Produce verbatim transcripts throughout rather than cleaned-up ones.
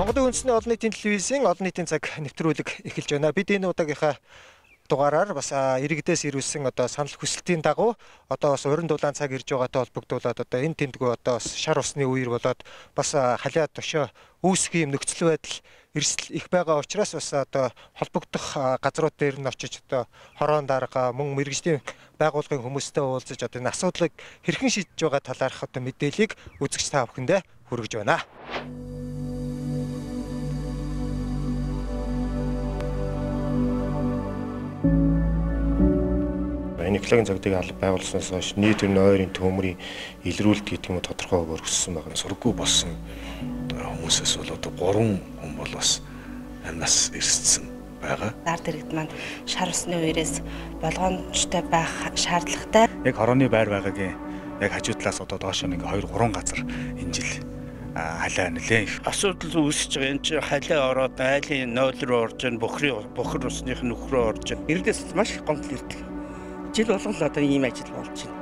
Монголын үндэсний олон нийтийн телевизийн олон нийтийн цаг нэвтрүүлэг эхэлж байна. Бид энэ удаагийнхаа дугаараар бас иргэдээс ирүүлсэн одоо санал хүсэлтийн дагуу одоо бас уран дулаан цаг ирж байгаатай холбогдуулаад одоо энэ тэмдгүү одоо бас шар усны үеэр болоод бас халиа тошоо үүсэх юм нөхцөл байдал эрсдэл их байгаа учраас бас одоо холбогдох газрууд дээр нь очиж одоо хороон дарга мөн мэрэгжлийн байгууллагын хүмүүстэй уулзаж одоо энэ асуудлыг хэрхэн шийдэж байгаа талаарх одоо мэдээллийг үзэгч та бүхэндээ хүргэж байна. Энэ экологийн цагдаагийн алба байгуулснаас хойш нийт энэ ойрын төмрийн илрүүлэлт гэдэг юм тодорхой хөвөр өссөн байгаа. Сургуу болсон хүмүүсээс бол одоо гурван хүн бол бас амнаас ирсэн байгаа. Ард иргэд маань шар усны үерээс болгоомжтой байх шаардлагатай. Яг хорооны байр байгаагийн яг хажуу талаас одоо доош нэг хоёр гурван газар энэ жил халиа нэлээ их асуудал үүсэж байгаа. Энд чинь халиа ороод айлын нойл руу орж, бохрын бохор усных нөхрөө орж, иргэдээс маш их гомдол ирдэг. Жил болгон л одоо ийм ажил болж байна.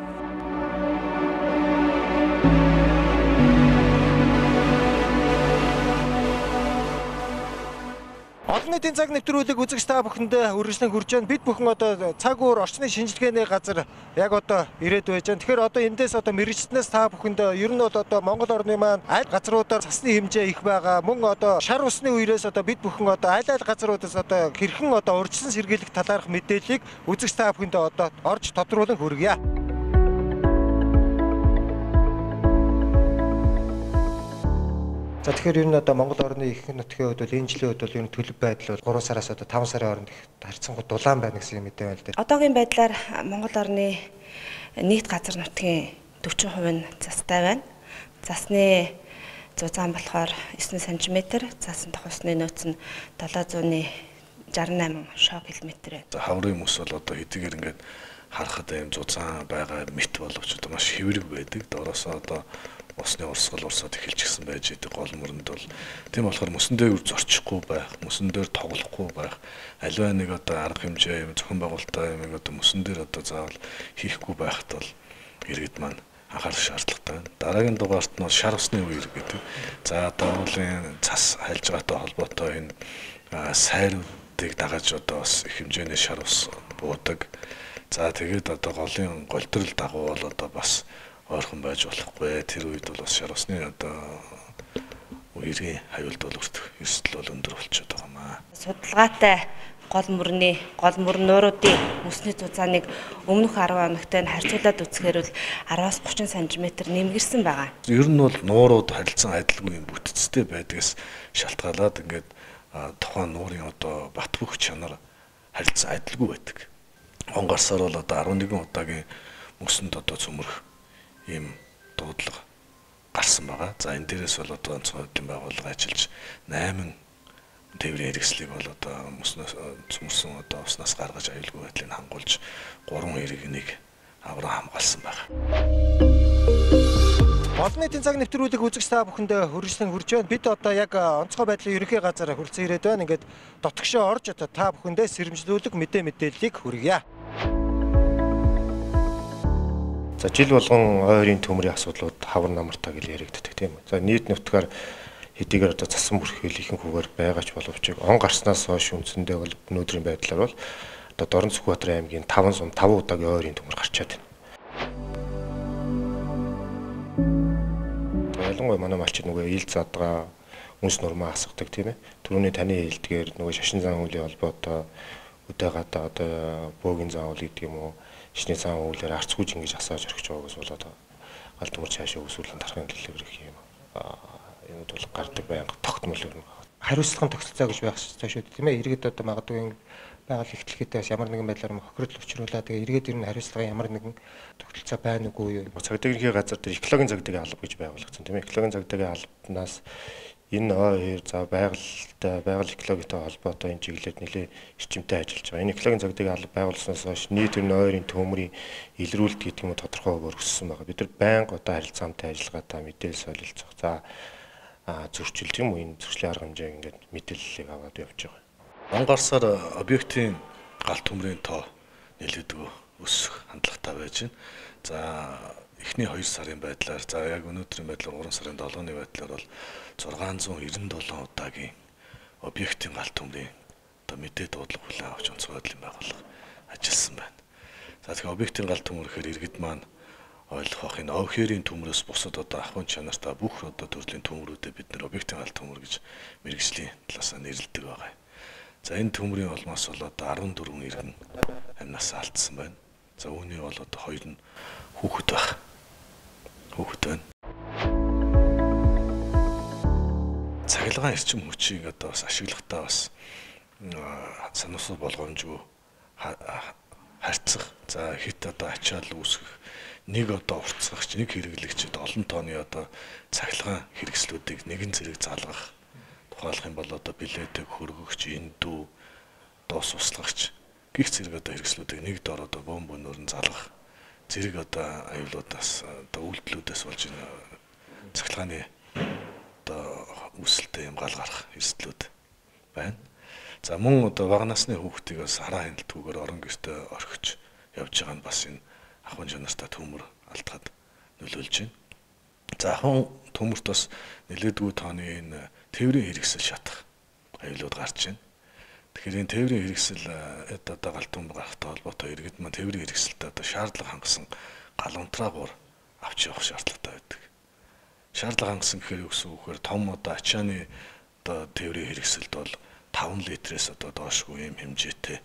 Олон нийтийн цаг нэвтрүүлэг үзэгч та бүхэндээ үргэлжлэн хүрж байна. Бид бүхэн одоо цаг уур орчны шинжилгээний газар яг одоо ирээд байж байна. Тэгэхээр одоо эндээс одоо мэрэгчтнээс та бүхэнд ер нь бол одоо Монгол орны маань аль газруудаар цасны хэмжээ их байгаа. Мөн одоо шар усны үерээс одоо бид бүхэн одоо аль аль газруудаас одоо хэрхэн одоо урьдчилан сэргийлэх талаарх мэдээллийг үзэгч та бүхэндээ одоо орж тодруулан хүргье. За тэгэхээр ер нь одоо Монгол орны их нутгийн хувьд бол энэ жилийн хувьд бол ер нь төлөв байдал бол гурван сараас одоо таван сарын хооронд их харьцангуй дулаан байна гэсэн мэдээ байна л дээ. Одоогийн байдлаар Монгол орны нийт газар нутгийн дөрвөн хувь нь застай байна. Засны зузаан болохоор девять сантиметр, засан дах усны нөөц нь долоодуусны шестьдесят восемь шок километр байна. Хаврын мөс бол одоо хэдийгээр ингээд харахад юм зузаан байгаа мэт боловч одоо маш хэврэг байдаг. Доороос одоо усны урсгал урсаад эхэлж гисэн байж идэг гол мөрөнд бол тийм болохоор мөсөн дээр зорчихгүй байх, мөсөн дээр тоглохгүй байх, аливаа нэг одоо арга хэмжээ юм зохион байгуулалтаа юм одоо мөсөн дээр одоо заавал хийхгүй байхад бол иргэд маань анхаарах шаардлагатай байна. Дараагийн дугаарт нь шар усны үер гэдэг. За дагуулын цас хайлж байгаатай холбоотой энэ сайруудыг дагаж одоо бас их хэмжээний шар ус буудаг. За тэгээд одоо голын голдрол дагуу бол одоо бас ойрхон байж болохгүй. Тэр үед бол бас шар усны одоо үерийн хавьд бол өртөх эрсдэл бол өндөр болчиход байгаа юм аа. Судалгаатай гол мөрний гол мөрн нууруудын мөсний зузааныг өмнөх арван хоногтой нь харьцуулаад үзэхээр бол араас гучин сантиметр нэмгэрсэн байгаа. Ер нь бол нуурууд харилцан адилгүй юм бүтцтэй байдгаас шалтгаалаад ингээд тухайн нуурын одоо бат бөх чанар харилцан адилгүй байдаг. Он гарсаар бол одоо арван нэгэн удаагийн мөсөнд одоо цөмөрх ийм дуудлага гарсан байгаа. За энэ дээрээс бол одоо онцгой хөдөлгөөний байгууллага ажиллаж восемь тээврийн хэрэгслийг бол одоо мөснөөс цөмөрсөн одоо уснаас гаргаж аюулгүй байдлыг хангуулж гурван иргэнийг авраа хамгаалсан байна. Олон нийтийн цаг нэвтрүүлэг үзэгч та бүхэндээ хүргэжлэн хүрж байна. Бид одоо яг онцгой байдлын ерөнхий газар хүрэлцэн ирээд байна. Ингээд дотгошоо орж одоо та бүхэндээ сэрэмжлүүлэг мэдээ мэдээллийг хүргье. За жил болгон ойрын төмрийн асуудлууд хавар намартаа гэж яригддаг тийм үү. За нийт нутгаар хэдийгээр одоо цасан бүрхэл ихэнх үгээр байгаач боловч он гарснаас хойш үндсэндээ бол өнөөдрийн байдлаар бол одоо Дорн Сүхбаатар аймгийн таван сум таван удаагийн ойрын төмөр гарчаад байна. Ялангуяа манай малчид нөгөө ил задгаа үнс нурмаа асгадаг тийм ээ. Түрүүний таны хэлдгээр нөгөө шашин зан үйлийн холбоотой үдээгаата одоо бөөгийн зан үйл гэдэг юм уу шний цаан үүлээр арцгүйж ингэж асааж орхиж байгаагаас болоод гал төмөр цаашаа өсвөрлөн тархын дэлгэр гэх юм юмуд бол гардаг байнга тогтмол юм. Хариуцлагын тогтолцоо гэж байх хэрэгтэй шүү дээ тийм ээ. Иргэд одоо магадгүй байгаль ихтлэхтэй бас ямар нэгэн байдлаар хохирол учруулаад тэгээ иргэд ер нь хариуцлагын ямар нэгэн тогтолцоо байна уугүй юу. Цагдаагийн газар дээр экологийн цагдаагийн алба гэж байгуулагдсан тийм ээ. Экологийн цагдаагийн албанаас энэ хоёр за байгальтай байгаль экологитой холбоотой энэ чиглэлд нэлээд эрчимтэй ажиллаж байгаа. Энэ экологийн цагдаагийн алба байгуулснаас хойш нийт энэ ойрын төмрийн илрүүлэлт гэдэг юм тодорхой хөвөр өссөн байгаа. Бид нар байнга одоо харилцаантай ажиллагаатай мэдээлэл солилцох. За зөрчил тийм үү энэ зөрчлийн арга хэмжээг ингээд мэдээллийг аваад явж байгаа. Он гарсаар объектын гал төмрийн тоо нэлээдгүй өсөх хандлагатай байж байна. За эхний хоёр сарын байдлаар за яг өнөөдрийн байдлаар гурван сарын долооны байдлаар бол зургаан зуун эрдэнэ долоон удаагийн объектын галт төмрийн одоо мэдээ дуудлага хүлээн авч онцгой байдлын байгууллага ажилласан байна. За тэгэхээр объектын галт төмөр гэхээр иргэд маань ойлгох бах энэ овхерийн төмрөөс бусад одоо ахуйн чанартай бүх одоо төрлийн төмрүүдэд бид нэр объектын галт төмөр гэж мэргэжлийн талаас нь нэрлэдэг байгаа. За энэ төмрийн улмаас бол одоо арван дөрвөн иргэн амнасаа алдсан байна. За үүний бол одоо хоёр нь хүүхэд байх. Хүүхэд байна. Цахилгаан эрчим хүчийг одоо бас ашиглахдаа бас сануусаа болгоомжгүй харьцах. За хит одоо ачаал үүсгэх нэг одоо уртцагч нэг хэрэглэгчд олон тооны одоо цахилгаан хэрэгслүүдийг нэгэн зэрэг залгах. Тухайлах юм бол одоо билетийг хөргөгч, эндүү, доос услагч гих зэрэг одоо хэрэгслүүдийг нэг дор одоо бөөн бөөнөөр нь залгах зэрэг одоо аюулуудаас одоо үйлдэлүүдээс болж энэ цахилгааны одоо үүсэлтэй юм гал гарах эрсдлүүд байна. За мөн одоо бага насны хүүхдийг бас хараа хяналтгүйгээр орон гэртээ орхиж явж байгаа нь бас энэ ахуйн чанартай төмөр алдахад нөлөөлж байна. За ахуйн төмөрт бас нэлээдгүй тооны энэ тээврийн хэрэгсэл шатах аюулууд гарч байна. Тэгэхээр энэ тээврийн хэрэгсэл эд одоо галт төмөр гарахтай холбоотой иргэд маань тээврийн хэрэгсэлтэй одоо шаардлага хангасан галунтраагуур авч явах шаардлагатай байдаг. Шаардлага хангасан гэхээр юу гэсэн үг вэ? Том одоо ачааны одоо тээврийн хэрэгсэлд бол таван литрээс одоо доошгүй юм хэмжээтэй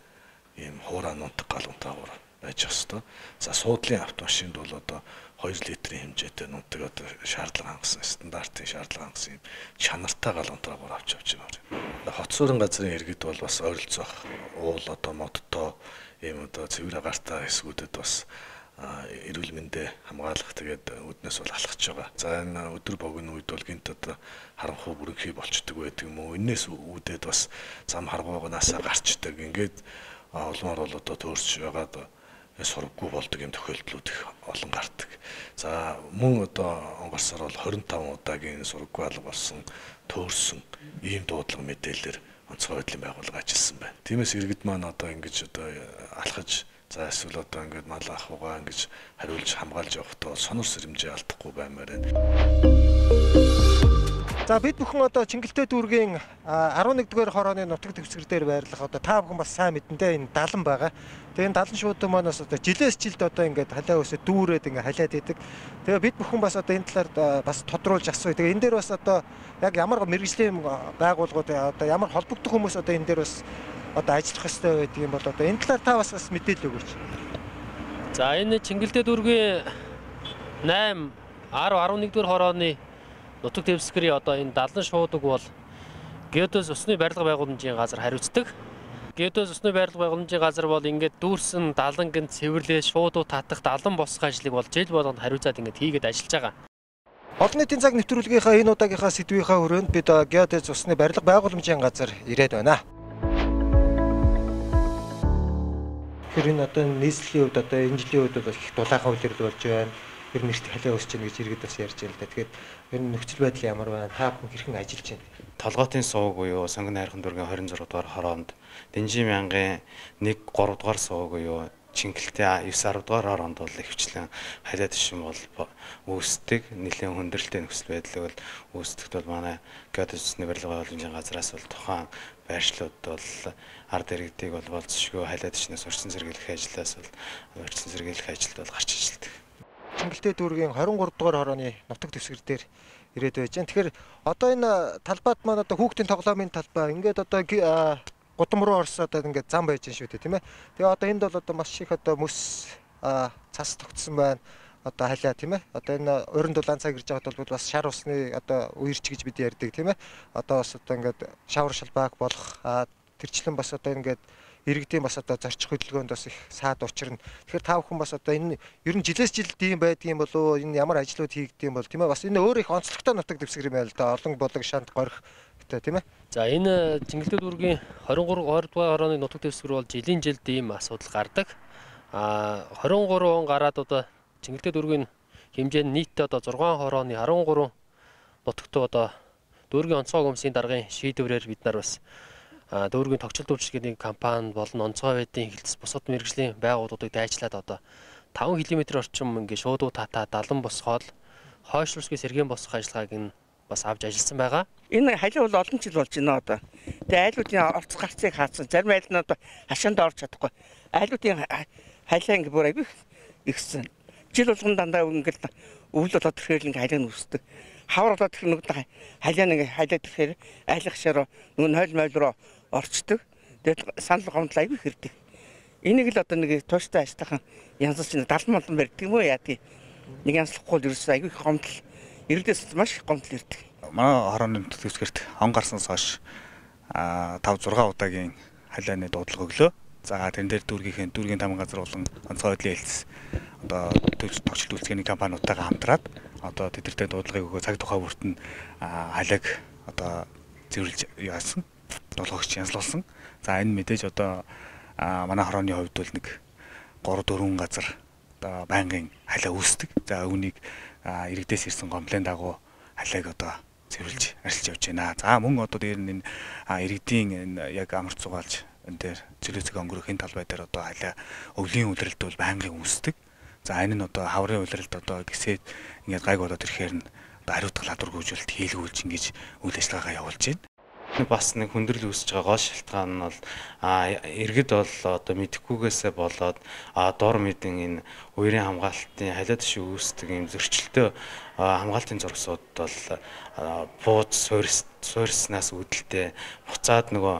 ийм хуурай нунтаг галунтраагуур байж ах хэвээр. За суудлын автомашинд бол одоо хоёр литрийн хэмжээтэй нунтаг одоо шаардлага хангасан стандартын шаардлага хангасан юм чанартай галунтраагуур авч явж байгаа. Хот суурин газрын иргэд бол бас ойролцоох уул одоо модтой ийм одоо цэвэр агаартай хэсгүүдэд бас эрүүл мэндэ хамгаалах тэгээд үднээс бол алхаж байгаа. За энэ өдөр богино үед бол гинт одоо харанхуй бүрэнхий болчдөг байдаг юм уу? Энээс үүдээд бас зам харгууганаасаа гарчдаг. Ингээд улмаар бол одоо төөрч байгаад сургаггүй болдог юм тохиолдлууд их олон гардаг. За мөн одоо онгорсоор бол хорин таван удаагийн сургаггүй алга болсон төөрсөн ийм дуудлага мэдээлэлээр онцгой байдлын байгууллага ажилласан байна. Тиймээс иргэд маань одоо ингэж одоо алхаж за эсвэл одоо ингээд мал ахуйгаа ингэж хариулж хамгаалж явахдаа сонор сэрэмжээ алдахгүй баймаар байна. За бид бүхэн одоо Чингэлтэй дүүргийн арван нэгдүгээр хорооны нутаг дэвсгэр дээр байрлах одоо та бүхэн бас сайн мэдэнтэй энэ далан байгаа. Тэгээ энэ далан шуудуу манаас одоо жилээс жилд одоо ингээд халиа өсөд дүүрээд ингээд халиад идэг. Тэгээ бид бүхэн бас одоо энэ талаар бас тодруулж асууя. Тэгээ энэ дээр бас одоо яг ямар мэргэжлийн байгууллагууд одоо ямар холбогдох хүмүүс одоо энэ дээр бас одоо ажиллах хэрэгтэй байдаг юм бол одоо энэ талаар та бас бас мэдээлэл өгөөч. За энэ Чингэлтэй дүүргийн найман, арав, арван нэгдүгээр хорооны нутаг дэвсгэрийн одоо энэ далан шуудаг бол геодез усны барилга байгууламжийн газар хариуцдаг. Геодез усны барилга байгууламжийн газар бол ингээд дүүрсэн далан гинт цэвэрлээ шуудуу татах далан босгох ажлыг бол жил болгонд хариуцаад ингээд хийгээд ажиллаж байгаа. Олон нийтийн цаг нэвтрүүлгийнхаа энэ удаагийнхаа сэдвийнхаа хүрээнд бид геодез усны барилга байгууламжийн газар ирээд байна. Тэгэхээр энэ одоо нийслэлийн хувьд одоо энэ жилийн хувьд бол их дулаахан үйлрэл болж байна. Тэр нэрт халиа өсч гэнэ гэж иргэд бас ярьж байна л да. Тэгэхээр ер нь нөхцөл байдал ямар байна? Та бүхэн хэрхэн ажиллаж байна? Толгойтын сувг буюу Сонгон хайрхан дүүргийн двадцать sáu дугаар хороонд, Дэнжин мянган нэг гурав дугаар сувг буюу Чингэлтэй девять десять дугаар хороонд бол ихвчлэн халиа тишин бол үүсдэг. Нэлээд хүндрэлтэй нөхцөл байдал бол үүсдэхд бол манай геодез усны барилга байгууламжийн газраас бол тухайн байршлууд бол ард иргэдийг бол болцсошгүй халиа тишнээс урьдчилан сэргийлэх ажлаас бол урьдчилан сэргийлэх ажилд бол гарч ижилдэг. Чингэлтэй дүүргийн двадцать три дугаар хорооны нутаг дэвсгэр дээр ирээд байж байна. Тэгэхээр одоо энэ талбайд маань одоо хүүхдийн тоглоомын талбай ингээд одоо гудам руу орсоод ингээд зам байж байна шүү дээ, тийм ээ. Тэгээ одоо энд бол одоо маш их одоо мөс цас тогтсон байна. Одоо халиа тийм ээ. Одоо энэ уран дулаан цаг ирж байгаад бол бас шар усны одоо үерч гэж бид ярьдаг, тийм ээ. Одоо бас одоо ингээд шавар шалбааг болох тэрчлэн бас одоо ингээд иргэдийн бас одоо зорчих хөдөлгөөнд бас их саад учрна. Тэгэхээр та бүхэн бас одоо энэ ер нь жилээс жилд ийм байдгийн болов уу? Энэ ямар ажлууд хийгдэм бол тийм ээ. Бас энэ өөр их онцлогтой нутаг дэвсгэр юм байл да. Олон болог шант горих гэдэг тийм ээ. За энэ Чингэлтэй дүүргийн двадцать три дугаар хорооны нутаг дэвсгэр бол жилийн жилд ийм асуудал гардаг. А двадцать три он гараад одоо Чингэлтэй дүүргийн хэмжээ нь нийтдээ одоо шесть хорооны дөрвөн три нутагт одоо дүүргийн онцгой комиссийн даргын шийдвэрээр бид нар бас дүүргийн тогтцол үйлчилгээний компани болон онцгой байдлын хэлтс бусад мэргэжлийн байгууллагуудыг дайчлаад одоо таван километр орчим ингээ шуудуу татаа далан босгоод хойш русгийн сэргээн босгох ажиллагааг нь бас авч ажилласан байгаа. Энэ халиа бол олон жил болж байна одоо. Тэгээ айлуудын орц гарцыг хаацсан. Зарим айл нь одоо хашаанд орж чадахгүй. Айлуудын халиа ингээ бүр аягүй ихсэн. Жил болгон дандаа ингээл өвөл болоод ирэхээр ингээ халиа нь үсдэг. Хавар болоод ирэхээр нөгөө халиа нэг халиа ирэхээр айлах шараа нөгөө нойл мойл руу орчдөг. Тэгээд санал гомдол аягүй хэрдэг. Энийг л одоо нэг тууштай ажиллахан янзлж даалан молон барьдаг юм уу яа тий. Нэг янзлахгүй ерөөсөө аягүй гомдол. Иргэдээс маш их гомдол ирдэг. Манай хорооны төсгөрт он гарснаас хойш тавь зургаан удаагийн халианы дуудлага өглөө. За тэрэн дээр дүүргийнхээ дүүргийн тамга газар болон онцгой хөдлийн хэлтс одоо тогтчлт үйлчлэгээний компаниудтайгаа хамтраад одоо тэдэртэй дуудлагыг өгөө цаг тухай бүрт нь халиаг одоо зэвэрлж яасан. Дуулгагч янзлуулсан. За энэ мэдээж одоо манай хорооны хувьд бол нэг гурав дөрвөн газар одоо байнгын халиа үүсдэг. За үүнийг иргэдээс ирсэн комплейн дагуу халиаг одоо цэвэрлж арчилж явж байна. За мөн одоо дээр нь энэ иргэдийн энэ яг амарч зугаалж энэ дээр зөлөөцөг өнгөрөхийн талбай дээр одоо халиа өвлийн үйлрэлт бол байнгын үүсдэг. За энэ нь одоо хаврын үйлрэлт одоо гисээд ингээд гайг болоод ирэхээр нь одоо хариуцлага ладваргүйжүүлэлт хийлгүүлж ингэж үйл ажиллагаагаа явуулж байна. Бас нэг хүндрэл үүсэж байгаа гол шалтгаан нь бол иргэд бол одоо мэдэхгүйгээсээ болоод дор мэдэн энэ үерийн хамгаалтын халиа тишээ үүсдэг юм зөрчилтэй хамгаалтын зургсууд бол бууз суурьснаас үүдэлтэй буцаад нөгөө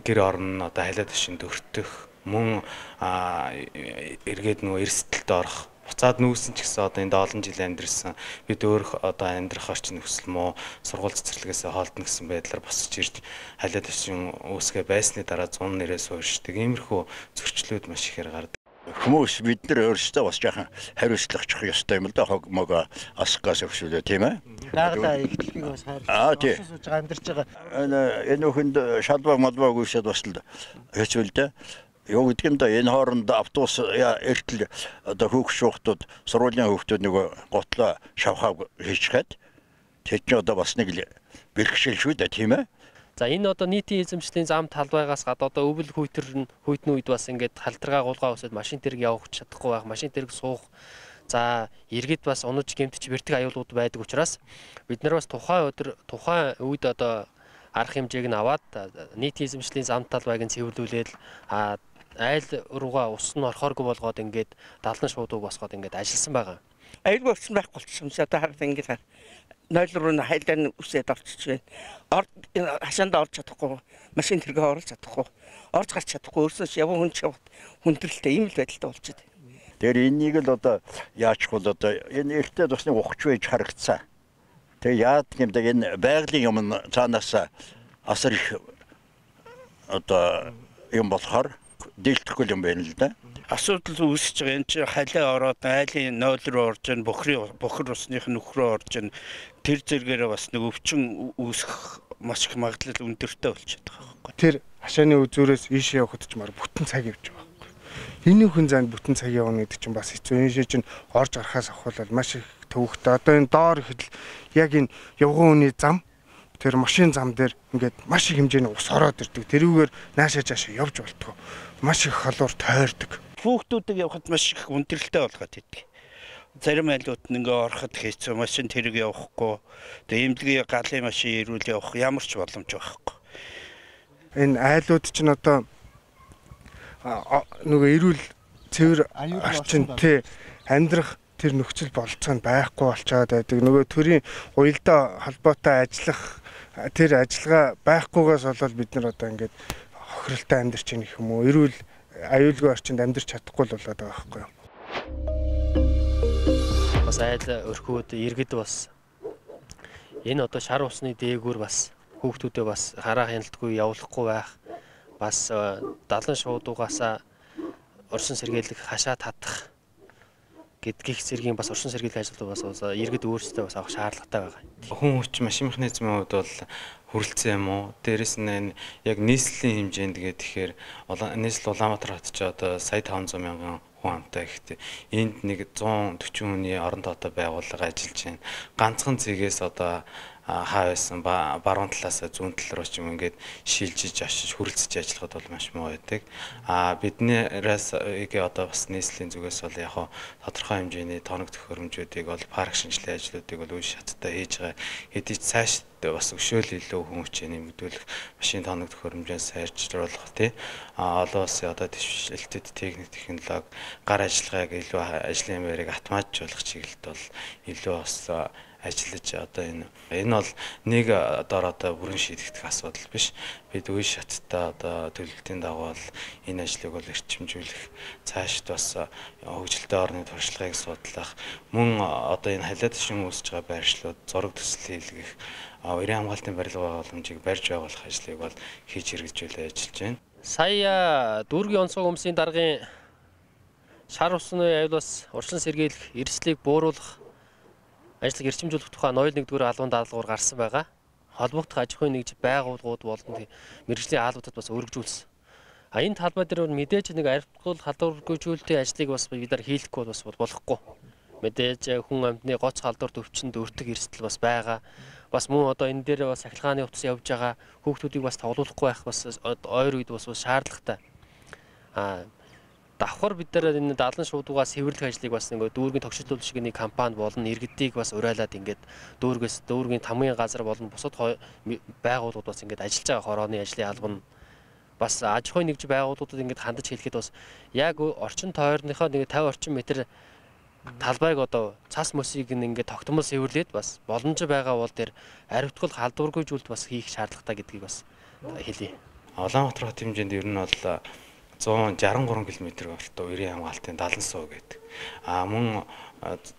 гэр орон одоо халиа тишинд өртөх мөн эргээд нөгөө эрсдэлд орох буцаад нүүсэн ч гэсэн одоо энд олон жил амьдэрсэн бид өөр одоо амьдрах орчин нөхцөл муу сургууль цэцэрлэгээсээ хоолдно гэсэн байдлаар босч ирж халиа тишин үүсгээ байсны дараа зун нэрээ суурьшдаг иймэрхүү зөрчлүүд маш ихээр гардаг. Хүмүүс бид нар өөрсдөө бас жаахан хариуцлагачих ёстой юм л да хог мого асгаас өгшүүлээ тийм ээ. Байгалаа ихтлгийг бас хайрлаж Аа тий. сууж байгаа амьдарч байгаа. Энэ хүнд шалбар малбаг үүсээд бас л хэцүү л дээ. Юу гэдэг юм да энэ хооронд автобус эртэл одоо хүүхд шуухтууд сургуулийн хүүхдүүд нөгөө готлоо шавхаа хийчихээд тэр чинь одоо бас нэг бэрхшээл шүү дээ тийм ээ. За энэ одоо нийтийн эзэмшлийн зам талбайгаас гадаа одоо өвөл хүйтэр хүйтний үед бас ингээд халтргаа гулгаа өсөд машин тэрэг явах чадахгүй байх, машин тэрэг суух. За иргэд бас унаж гэмтэж бэртэг аюулууд байдаг учраас бид нар бас тухайн өдөр тухайн үед одоо арга хэмжээг нь аваад нийтийн эзэмшлийн зам талбайг нь цэвэрлүүлээд айл руугаа ус нь орохооргүй болгоод ингээд далдан шуудууг босгоод ингээд ажилласан байгаа. Аюулгүй орчин байхгүй болчихсон. Одоо хараад ингээд нойл руу хайлаа үсээд орчиж байна. Хашаанд орж чадахгүй, машин тэргээ оруулж чадахгүй, орж гарч чадахгүй, өөрөөс яваа хүн ч хүндрэлтэй ийм л байдалтай болчиход байна. Тэр энийг л одоо яачих бол одоо энэ эртээ тусны ухч байж харагдсан. Тэгээ яад юм да энэ байгалийн юм цаанаас асар их одоо юм болохоор дийлдэхгүй юм байна л да. Асуудал үүсэж байгаа энэ чинь халиа ороод айлын нойл руу орж ийн бохрын бохор усных нөхрөө орж ийн тэр зэрэгээрээ бас нэг өвчин үүсэх маш их магадлал өндөртэй болчиход байгаа байхгүй. Тэр хашааны үзүүрээс ийшээ явахд ч мар бүтэн цаг явж байгаа байхгүй. Хэний хүн занд бүтэн цаг явна гэдэг чинь бас хэцүү. Энэ шээ чинь орж гарахаас ахвал маш их төвөгтэй. Одоо энэ доор ихэд яг энэ явган хүний зам тэр машин зам дээр ингээд маш их хэмжээний ус ороод ирдэг. Тэрүүгээр наашаа жаашаа явж болтгоо. Маш их халуур тойрдог. Хүүхдүүдийг явахад маш их хүндрэлтэй болгоод идэг. Зарим айлууд нь ингээ ороход хэцүү, машин тэрэг явахгүй. Тэгээ эмнэлгийн галын машин ирүүл явах ямар ч боломж байхгүй. Энэ айлууд чинь одоо нөгөө ирүүл цэвэр орчин тий амьдрах тэр нөхцөл болцоонд байхгүй болчоод байдаг. Нөгөө төрийн уялдаа холбоотой ажиллах тэр ажиллагаа байхгүйгээс болоод бид нар одоо ингээд хохиролтой амьдарч ийн гэх юм уу? Эрүүл аюулгүй орчинд амьдарч чадахгүй л болоод байгаа байхгүй юу? Бас айл өрхүүд иргэд бас энэ одоо шар усны дээгүүр бас хүүхдүүдээ бас хараа хяналтгүй явуулахгүй байх. Бас далан шуудуугаасаа орчин сэргийлэх хашаа татах гэдгийх зэргийн бас орчин сэргийлэх ажил бас иргэд өөрсдөө бас авах шаардлагатай байгаа. Хүн хүч машин механизмын хувьд бол хүрэлцэн юм уу? Дээрэс нь яг нийслэлийн хэмжээнд тэгээд тэгэхээр нийслэл Улаанбаатар хот ч одоо сая таван зуун мянган хүн амтай гэхдээ энд нэг зуун дөрвөн хүний орон тоотой байгууллага ажиллаж байна. Ганцхан цэгээс одоо хаа байсан баруун талаас зүүн тал руу ч юм ингээд шилжиж очиж хүрэлцэж ажиллахад бол маш муу байдаг. А биднээс игээ одоо бас нийслэлийн зүгээс бол яг тодорхой хэмжээний тоног төхөөрөмжүүдийг бол парк шинжилгээ ажлуудыг бол үе шаттай хийж байгаа. Хэдий ч цааш бас өшөөл илүү хүн хүчээ нэмэгдүүлэх, машин тоног төхөөрөмжөөс сайжруулах тий. А олон улсын одоо дэвшилтэд техник технологи гар ажиллагааг илүү ажлын байрыг автоматжуулах чиглэлд бол илүү бас ажиллаж одоо энэ энэ бол нэг дор одоо бүрэн шийдэгдэх асуудал биш. Бид үе шаттай одоо төлөвлөлтийн дагуу бол энэ ажлыг бол эрчимжүүлэх, цаашд бас хөгжилтэй орны туршлагыг судлах, мөн одоо энэ халиад шин үүсэж байгаа байршлууд зураг төсөл хийлгэх, өрийн хамгаалтын барилга боломжийг барьж байгуулах ажлыг бол хийж хэрэгжүүлээ ажиллаж байна. Сая дүүргийн онцгой өмсгийн даргын шар усны аюулаас урьдчилан сэргийлэх, эрсдлийг бууруулах ажлыг эрчимжүүлэх тухай ноёл нэгдүгээр албан даалгавар гарсан байгаа. Холбогдох аж ахуйн нэгж байгууллагууд болон мэргэжлийн хаалбуудад бас өргөжүүлсэн. А энэ талбай дээр мэдээж нэг архитектур халдваргүйжүүлэлтийн ажлыг бас бид нар хийхгүй бас болохгүй. Мэдээж хүн амьтны гоц халдвар төвчөнд өртөг эрсдэл бас байгаа. Бас мөн одоо энэ дээр бас ахилгааны утас явж байгаа хүүхдүүдийг бас тоглуулахгүй байх бас ойр үед бас шаардлагатай. А давхар бид нар энэ далан шуудуугаас хэвэрлэх ажлыг бас ингээ дүүргийн тогтчлол шиг нэг компани болон иргэдийг бас урайлаад ингээд дүүргээс дүүргийн тамгын газар болон бусад байгууллагууд бас ингээд ажиллаж байгаа хорооны ажлын албан бас аж ахуйн нэгж байгууллагуудад ингээд хандаж хэлэхэд бас яг орчин тойрныхоо нэг тавин орчим метр талбайг одоо цас мөсийг ингээд тогтмол сэвэрлээд бас боломж байгаа бол тэр архитектур халдваргүйжүүлэлт бас хийх шаардлагатай гэдгийг бас хэлье. Улаанбаатар хот хэмжээнд ер нь бол зуун жарган гурван километр уртаа өрийн хамгаалтын далан суу гэдэг. А мөн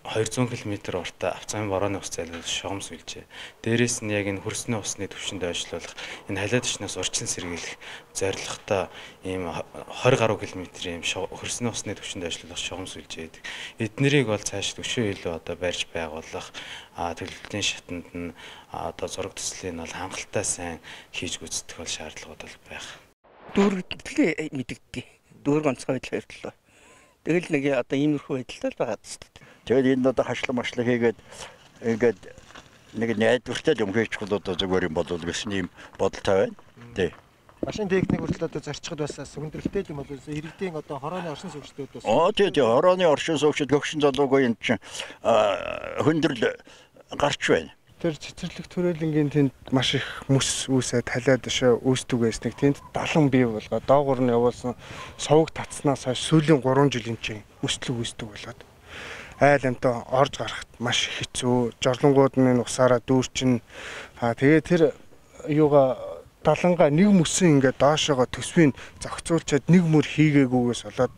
хоёрзуун километр уртаа авцааны борооны ус зайлуулах шугам сүлжээ. Дээрээс нь яг энэ хөрсний усны түвшинд ойшлуулах, энэ халиад ишнээс урьдчилан сэргийлэх зорилготой ийм двадцать гаруй километрийн хөрсний усны түвшинд ойшлуулах шугам сүлжээ гэдэг. Эднэрийг бол цааш өшөө илүү одоо барьж байгуулах, төлөвлөлтийн шатанд нь одоо зураг төслийн бол хангалттай сайн хийж гүйцэтгэх бол шаардлагууд бол байх. Дүүргэлээ мэдэгдээ. Дүүрг онцгой байдал хоёрлоо. Тэгэл нэг одоо иймэрхүү байдалтай л байгаа тест. Тэгэл энэ одоо хашлаг машлаг хийгээд ингээд нэг найдвартай юм хийчих бол одоо зүгээр юм болов гэсэн юм бодолтой байна. Тий. Машин техник хүртэл одоо зарчхад бас хүндрэлтэй юм бол иргэдийн одоо хорооны оршин суугчдод бас оо тий тий хорооны оршин суугчид гөгшин залуугүй энэ чинь хүндрэл гарч байна. Тэр цэцэрлэг төрөлнгийн тэнд маш их мөс үүсээ талиад өшөө үүсдүгээс нэг тэнд далан бий болгоо доогуур нь явуулсан сувг татснаас хойш сүүлийн гурван жилийн чинь өсөлт үүсдэг болоод айл амтаа орж гарахт маш хэцүү жорлонгууд нь усаараа дүүрчин аа тэгээ тэр юугаа далангаа нэг мөсөн ингээд доошоогоо төсвийг зохицуулчаад нэг мөр хийгээгүйгээс болоод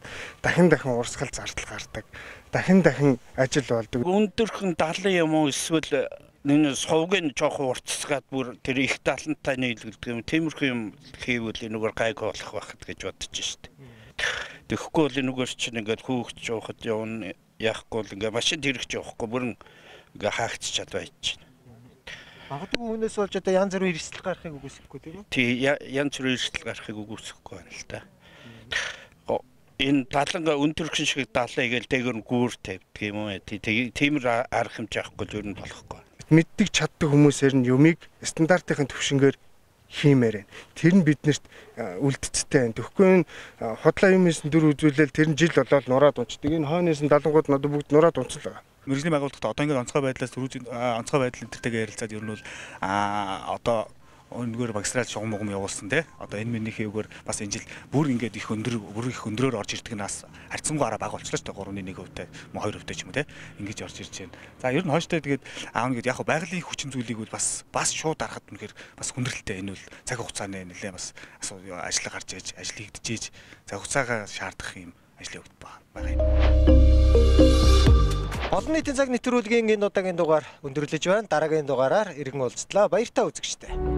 дахин дахин урсгал зардал гардаг дахин дахин ажил болдог өндөрхөн далан юм уу эсвэл энэ сувгийн жоохон уртсгаад бүр тэр их талантай нийлүүлдэг юм. Тиймэрхүү юм хийвэл энэгээр гайг болох байхад гэж бодож штеп. Тэгэхгүй бол энэгээр чинь ингээд хүүхд жоохот явна яахгүй л ингээд машин хэрэгч явахгүй бүрэн ингээд хаагч чад байж байна. Магадгүй хүнээс болж одоо янз бүрийн эрсдэл гарахыг үгүйсэхгүй тийм үү? Тий, янз бүрийн эрсдэл гарахыг үгүйсэхгүй байна л да. Энэ таланга өнтөрхөн шиг далаа игээл дээгүүр гүүр тавьдаг юм уу? Тиймэр арга хэмжээ авахгүй л юу нь болохгүй. Мэддэг чаддаг хүмүүсээр нь юмыг стандартын төвшингээр хиймээр байна. Тэр нь биднэрт үлдцтэй байна. Тэгэхгүй нь хотлоо юм хийсэн дүр үзүүлэл тэр нь жил болоод нураад унцдаг. Энэ хойноос нь далангууд надад бүгд нураад унцсан байгаа. Мэргэжлийн байгууллагад одоо ингээд онцгой байдлаас онцгой байдал энтертэйгээ ярилцаад ер нь бол аа одоо өнөөр магистрал шугам мугам явуулсан те одоо энэ минийхээ үгээр бас энэ жил бүр ингээд их өндөр бүр их өндрөөр орж ирдэг нас харьцангуй араа бага болчихлоо ч гурван нэг хувьтай мо хоёр хувьтай ч юм уу те ингэж орж ирж байна. За ер нь хойштой тэгээд аав нэгэд яг байгалийн хүчин зүйлийг бол бас бас шууд арахад үнэхээр бас хүндрэлтэй энэ бол цаг хугацааны нэлээ бас ажил гарч ээж ажил хийгдэж цаг хугацаагаа шаардах юм ажил явагдах байгаа юм. Олон нийтийн цаг нэвтрүүлгийн энэ удаагийн дугаар өндөрлөж байна. Дараагийн дугаараар иргэн уулзтлаа. Баяртай үзэгчтэй.